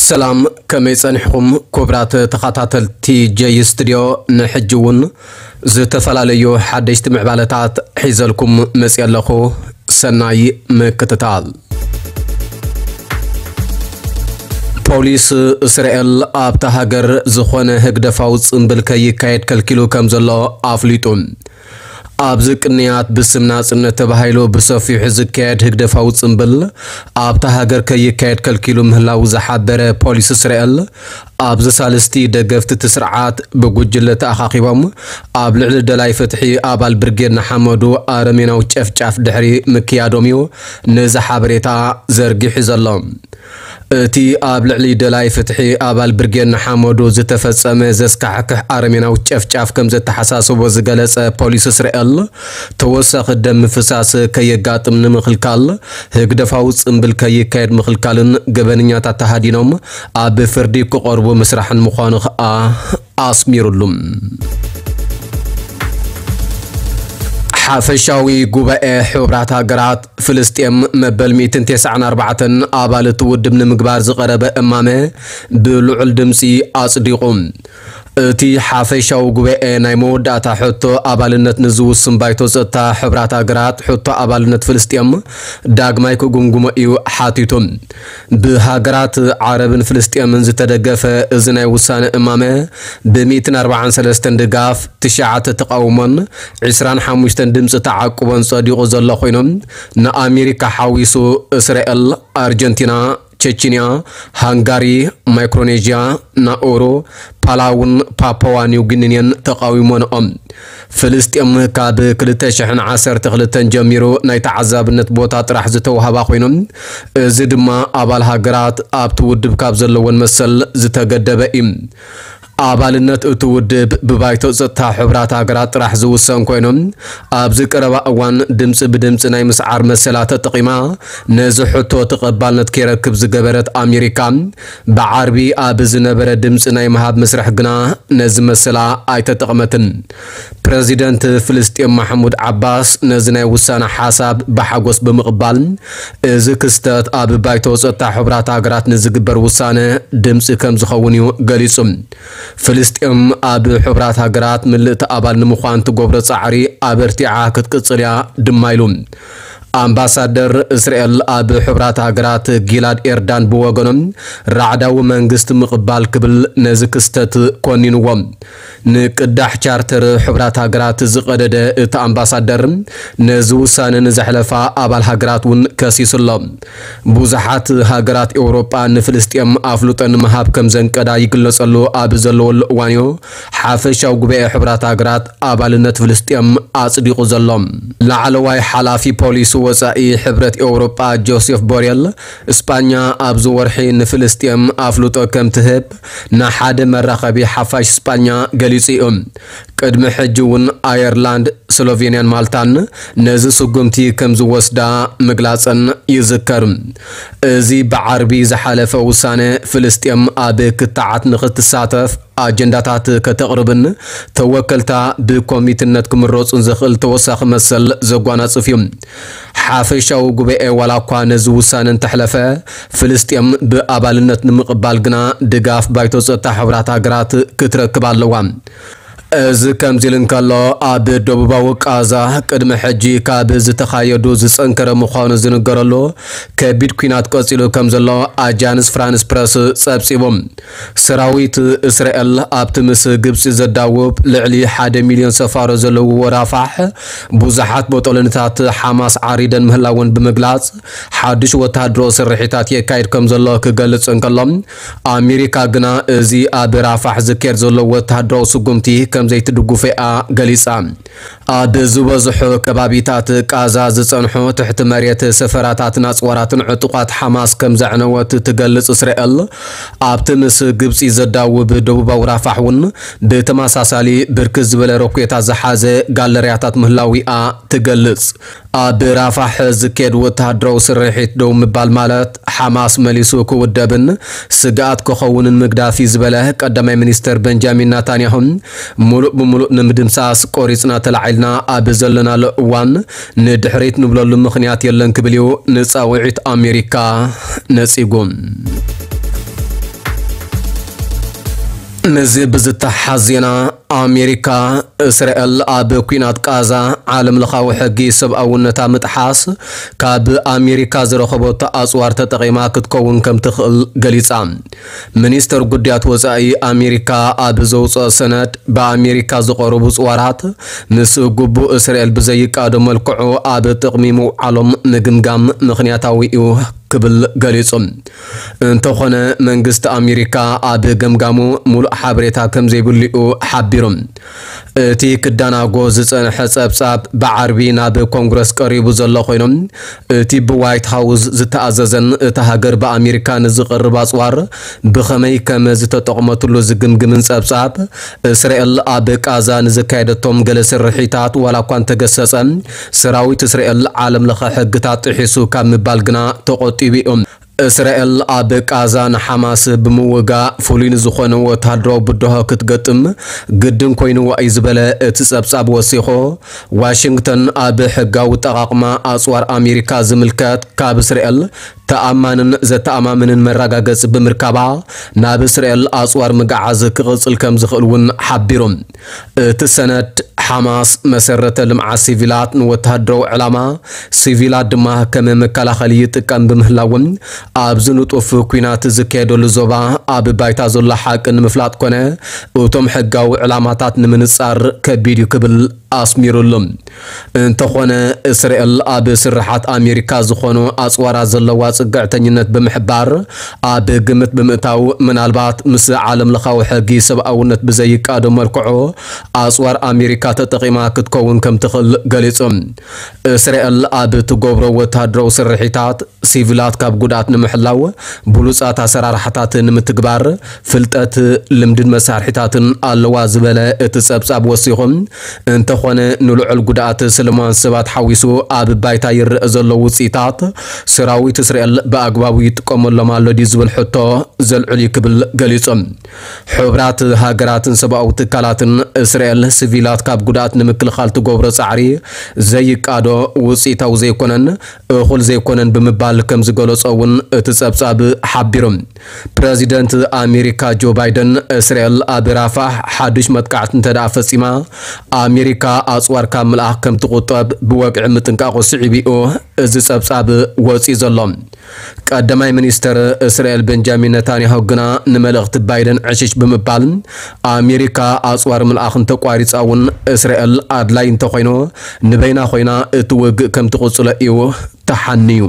ሰላም፣ ከመይ ጸኒሕኩም ክቡራት ተኸታተልቲ ጀይ ስቱድዮ? ንሕጂ እውን ዝተፈላለዩ ሓደሽቲ ምዕባለታት ሒዘልኩም መጽየ ኣለኹ። ሰናይ ምክትታል። ፖሊስ እስራኤል ኣብታ ሃገር ዝኾነ ህግደፋዊ ጽምብል ከይካየድ ከልኪሉ ከም ዘሎ ኣፍሊጡ። ኣብዚ ቅንያት ብስም ናጽነት ተባሂሉ ብሰፊሑ ዝካየድ ህግደፋዊ ጽምብል ኣብታ ሃገር ከይካየድ ከልኪሉ ምህላዉ ዝሓበረ ፖሊስ እስራኤል፣ ኣብዚ ሳልስቲ ደገፍቲ እቲ ስርዓት ብጉጅለ ተኣኻኺቦም ኣብ ልዕሊ ደላይ ፍትሒ ኣባል ብርጌድ ንሓመዱ ኣረሜናዊ ጨፍጫፍ ድሕሪ ምክያዶም እዩ ነዚ ሓበሬታ ዘርጊሑ ዘሎ። እቲ ኣብ ልዕሊ ደላይ ፍትሒ ኣባል ብርጌድ ንሓመዱ ዝተፈጸመ ዘስካሕክሕ ኣረሜናዊ ጨፍጫፍ ከም ዘተሓሳስቦ ዝገለጸ ፖሊስ እስራኤል፣ ተወሳኺ ደም ምፍሳስ ከየጋጥም ንምኽልካል ህግደፋዊ ጽምብል ከይካየድ ምኽልካልን ገበነኛታት ተሃዲኖም ኣብ ፍርዲ ክቐርቡ ምስራሕን ምዃኑ ከኣ ኣስሚሩሉ። ሓፈሻዊ ጉባኤ ሕቡራት ሃገራት ፍልስጤም መበል ሚእትን ተስዓን ኣርባዕተን ኣባል እቲ ውድብ ንምግባር ዝቐረበ እማመ ብልዑል ድምጺ ኣጽዲቑ። እቲ ሓፈሻዊ ጉባኤ ናይ መወዳእታ ሕቶ ኣባልነት ንዝውስን ባይቶ ጸጥታ ሕቡራት ሃገራት ሕቶ ኣባልነት ፍልስጤም ዳግማይ ክጉምጉሞ እዩ ሓቲቱ። ብሃገራት ዓረብን ፍልስጤምን ዝተደገፈ እዚ ናይ ውሳነ እማመ ብሚእትን ኣርባዓን ሰለስተን ድጋፍ፣ ትሽዓተ ተቓውሞን ዕስራን ሓሙሽተን ድምፂ ተዓቁቦን ጸዲቑ ዘሎ ኮይኖም፣ ንኣሜሪካ ሓዊሱ እስራኤል፣ ኣርጀንቲና፣ ቸችንያ፣ ሃንጋሪ፣ ማይክሮኔዥያ፣ ናኡሩ፣ ፓላውን ፓፑዋ ኒው ጊኒን ተቓዊሞንኦም። ፍልስጤም ካብ ክልተ ሽሕን ዓሰርተ ክልተን ጀሚሩ ናይ ተዓዛብነት ቦታ ጥራሕ ዝተዋህባ ኮይኖም፣ እዚ ድማ ኣባል ሃገራት ኣብቲ ውድብ ካብ ዘለወን መሰል ዝተገደበ እዩ። ኣባልነት እቲ ውድብ ብባይቶ ጸጥታ ሕቡራት ሃገራት ጥራሕ ዝውሰን ኮይኖም፣ ኣብዚ ቀረባ እዋን ድምፂ ብድምፂ ናይ ምስዓር መሰላ ተጠቒማ ነዚ ሕቶ ተቐባልነት ከይረክብ ዝገበረት ኣሜሪካ፣ ብዓርቢ ኣብ ዝነበረ ድምፂ ናይ ምሃብ መስርሕ ግና ነዚ መሰላ ኣይተጠቕመትን። ፕረዚደንት ፍልስጤም ማሕሙድ ዓባስ ነዚ ናይ ውሳነ ሓሳብ ብሓጎስ ብምቕባል፣ እዚ ክስተት ኣብ ባይቶ ጸጥታ ሕቡራት ሃገራት ንዝግበር ውሳነ ድምፂ ከም ዝኸውን እዩ ገሊጹ። ፍልስጤም ኣብ ሕቡራት ሃገራት ምልእቲ ኣባል ንምዃን ትገብሮ ጻዕሪ ኣበርቲዓ ክትቅጽል እያ ድማ ኢሉ። ኣምባሳደር እስራኤል ኣብ ሕቡራት ሃገራት ጊላድ ኤርዳን ብወገኖም፣ ራዕዳዊ መንግስቲ ምቕባል ክብል ነዚ ክስተት ኮኒንዎ። ንቅዳሕ ቻርተር ሕቡራት ሃገራት ዝቐደደ እቲ ኣምባሳደር፣ ነዚ ውሳነ ንዘሕለፋ ኣባል ሃገራት እውን ከሲሱ ኣሎ። ብዙሓት ሃገራት ኤውሮጳ ንፍልስጤም ኣፍልጦ ንምሃብ ከም ዘንቀዳ ይግለጸሉ ኣብ ዘለወሉ እዋን እዩ፣ ሓፈሻዊ ጉባኤ ሕቡራት ሃገራት ኣባልነት ፍልስጤም ኣጽዲቑ ዘሎ። ላዕለዋይ ሓላፊ ፖሊሲ ወጻኢ ሕብረት ኤውሮጳ ጆሴፍ ቦሬል፣ እስጳኛ ኣብዚ ወርሒ ንፍልስጤም ኣፍልጦ ከም ትህብ ንሓደ መራኸቢ ሓፋሽ እስጳኛ ገሊጹ እዩ። ቅድሚ ሕጂ እውን ኣየርላንድ፣ ስሎቬንያን ማልታን ነዚ ስጉምቲ ከም ዝወስዳ ምግላጸን ይዝከር። እዚ ብዓርቢ ዝሓለፈ ውሳነ ፍልስጤም ኣብ ክትዓት ንኽትሳተፍ ኣጀንዳታት ከተቕርብን ተወከልታ ብኮሚትነት ክምረጹን ዘኽእል ተወሳኺ መሰል ዘጓናጽፍ እዩ። ሓፈሻዊ ጉባኤ ዋላ እኳ ነዚ ውሳነ እንተሕለፈ፣ ፍልስጤም ብኣባልነት ንምቕባል ግና ድጋፍ ባይቶ ጸጥታ ሕቡራት ሃገራት ክትረክብ ኣለዋ። እዚ ከምዚ ኢሉ እንከሎ፣ ኣብ ደቡባዊ ቃዛ ቅድሚ ሕጂ ካብ ዝተኻየዱ ዝጸንከረ ምዃኑ ዝንገረሉ ከቢድ ኲናት ቀጺሉ ከም ዘሎ ኣጃንስ ፍራንስ ፕረስ ጸብጺቡ። ሰራዊት እስራኤል ኣብቲ ምስ ግብጺ ዘዳውብ ልዕሊ ሓደ ሚልዮን ሰፋሮ ዘለዎ ራፋሕ ብዙሓት ቦጦሎኒታት ሓማስ ዓሪደን ምህላወን ብምግላጽ፣ ሓድሽ ወተሃደራዊ ስርሒታት የካይድ ከም ዘሎ ክገልጽ እንከሎ፣ ኣሜሪካ ግና እዚ ኣብ ራፋሕ ዝካየድ ዘሎ ወተሃደራዊ ስጉምቲ ከም ዘይትድግፎ እያ ገሊጻ። ኣብ ዝበዝሑ ከባቢታት ቃዛ ዝጸንሑ ትሕቲ መሬት ሰፈራታትን ኣጽዋራትን ዕጡቓት ሓማስ ከም ዘዕነወት ትገልጽ እስራኤል፣ ኣብቲ ምስ ግብጺ ዘዳውብ ደቡባዊ ራፋሕ እውን ብተመሳሳሊ ብርክት ዝበለ ሮኬታት ዝሓዘ ጋለርያታት ምህላዊኣ ትገልጽ። ኣብ ራፋሕ ዝካየድ ወተሃደራዊ ስርሒት ደው ምባል ማለት ሓማስ መሊሱ ክውደብን ስግኣት ክኸውንን ምግዳፍ እዩ ዝበለ ቀዳማይ ሚኒስተር በንጃሚን ናታንያሁ፣ ምሉእ ብምሉእ ንምድምሳስ ቆሪጽና ተላዒልና ኣብ ዘለናሉ እዋን ንድሕሪት ንብለሉ ምኽንያት የለን ክብል እዩ ንጻውዒት ኣሜሪካ ነጺጉ። ምስዚ ብዝተሓሓዝ ዜና፣ ኣሜሪካ እስራኤል ኣብ ኲናት ቃዛ ዓለም ለኻዊ ሕጊ ሰብኣውነታ ምጥሓስ ካብ ኣሜሪካ ዝረኸበቶ ኣጽዋር ተጠቒማ ክትከውን ከም ትኽእል ገሊጻ። ሚኒስተር ጉዳያት ወጻኢ ኣሜሪካ ኣብ ዘውጽኦ ሰነድ፣ ብኣሜሪካ ዝቐረቡ ጽዋራት ምስ ግቡእ እስራኤል ብዘይቃዶ መልክዑ ኣብ ጥቕሚ ምውዓሎም ምግምጋም ምኽንያታዊ እዩ ክብል ገሊጹ። እንተኾነ መንግስቲ ኣሜሪካ ኣብ ገምጋሙ ሙሉእ ሓበሬታ ከም ዘይብሉ እዩ ሓቢሩ። እቲ ክዳናጎ ዝጸንሐ ጸብጻብ ብዓርቢ ናብ ኮንግረስ ቀሪቡ ዘሎ ኮይኑ፣ እቲ ብዋይት ሃውስ ዝተኣዘዘን እታ ሃገር ብኣሜሪካ ንዝቐርብ ኣጽዋር ብኸመይ ከም ዝተጠቕመትሉ ዝግምግምን ጸብጻብ፣ እስራኤል ኣብ ቃዛ ንዘካየደቶም ገለ ስርሒታት ዋላ እኳ እንተገሰጸ፣ ሰራዊት እስራኤል ዓለም ለኸ ሕግታት ጥሒሱ ካብ ምባል ግና ተቖጢቡ እዩ። እስራኤል ኣብ ቃዛ ንሓማስ ብምውጋእ ፍሉይ ንዝኾነ ወተሃደራዊ ብድሆ ክትገጥም ግድን ኮይንዋ እዩ ዝበለ እቲ ጸብጻብ ወሲኹ፣ ዋሽንግተን ኣብ ሕጋዊ ኣጠቓቕማ ኣጽዋር ኣሜሪካ ዝምልከት ካብ እስራኤል ተኣማንን ዘተኣማምንን መረጋገጺ ብምርካባ ናብ እስራኤል ኣጽዋር ምግዓዝ ክቕጽል ከም ዝኽእል እውን ሓቢሩ። እቲ ሰነድ ሓማስ መሰረተ ልምዓት ሲቪላት ንወተሃደራዊ ዕላማ፣ ሲቪላት ድማ ከም መከላኸሊ ይጥቀም ብምህላውን ኣብዚ ንጡፍ ኲናት ዝካየደሉ ዞባ ኣብ ባይታ ዘሎ ሓቂ ንምፍላጥ ኮነ እቶም ሕጋዊ ዕላማታት ንምንጻር ከቢድ እዩ ክብል ኣስሚሩሉ። እንተኾነ እስራኤል ኣብ ስርሓት ኣሜሪካ ዝኾኑ ኣጽዋራት ዘለዋ ጽግዕተኝነት ብምሕባር ኣብ ግምት ብምእታው ምናልባት ምስ ዓለም ለኻዊ ሕጊ ሰብኣውነት ብዘይቃዶ መልክዑ ኣጽዋር ኣሜሪካ ተጠቒማ ክትከውን ከም ትኽእል ገሊጹ። እስራኤል ኣብ ትገብሮ ወተሃደራዊ ስርሒታት ሲቪላት ካብ ጉድኣት ንምሕላው ብሉጻት ኣሰራርሓታት ንምትግባር ፍልጠት፣ ልምድን መሳርሒታትን ኣለዋ ዝበለ እቲ ጸብጻብ ወሲኹ፣ እንተኾነ ንልዑል ጉድኣት ሰለማውያን ሰባት ሓዊሱ ኣብ ባይታ ይረአ ዘሎ ውጽኢታት ሰራዊት እስራኤል ብኣግባቡ ይጥቀመሎም ኣሎ ድዩ ዝብል ሕቶ ዘልዕል እዩ ክብል ገሊጹ። ሕቡራት ሃገራትን ሰብኣዊ ትካላትን እስራኤል ሲቪላት ካብ ጉድኣት ንምክልኻል ትገብሮ ጻዕሪ ዘይቃዶ፣ ውጽኢታዊ ዘይኮነን እኹል ዘይኮነን ብምባል ከም ዝገለጾ እውን እቲ ጸብጻብ ሓቢሩ። ፕረዚደንት ኣሜሪካ ጆ ባይደን እስራኤል ኣብ ራፋሕ ሓዱሽ መጥቃዕቲ እንተ ደኣ ፈጺማ ኣሜሪካ ኣጽዋር ካብ ምልኣኽ ከም ትቑጠብ ብወግዒ ምጥንቃቑ ስዒቡ እዩ እዚ ጸብጻብ ወጺኡ ዘሎ። ቀዳማይ ሚኒስተር እስራኤል ቤንጃሚን ነታንያሁ ግና ንመልእኽቲ ባይደን ዕሽሽ ብምባል ኣሜሪካ ኣጽዋር ምልኣኽ እንተቋሪጻ እውን እስራኤል ኣድላይ እንተኾይኑ ንበይና ኮይና እቲ ውግእ ከም ትቕጽሎ እዩ ተሓንዩ።